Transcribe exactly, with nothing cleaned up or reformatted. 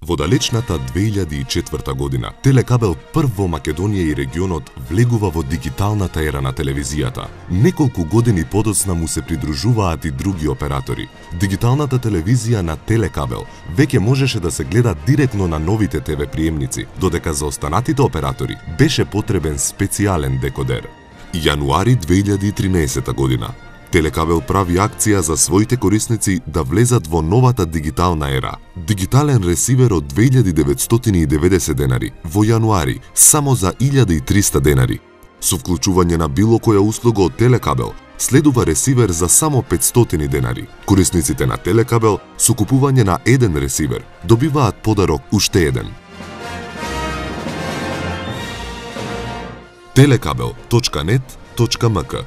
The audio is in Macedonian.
Во далечната две илјади и четврта година, Телекабел прв во Македонија и регионот влегува во дигиталната ера на телевизијата. Неколку години подоцна му се придружуваат и други оператори. Дигиталната телевизија на Телекабел веќе можеше да се гледа директно на новите те ве приемници, додека за останатите оператори беше потребен специјален декодер. Јануари две илјади и тринаесета година. Телекабел прави акција за своите корисници да влезат во новата дигитална ера. Дигитален ресивер од две илјади деветстотини и деветдесет денари во јануари само за илјада и триста денари. Со вклучување на било која услуга од Телекабел, следува ресивер за само петстотини денари. Корисниците на Телекабел со купување на еден ресивер добиваат подарок уште еден. телекабел точка нет точка ем ка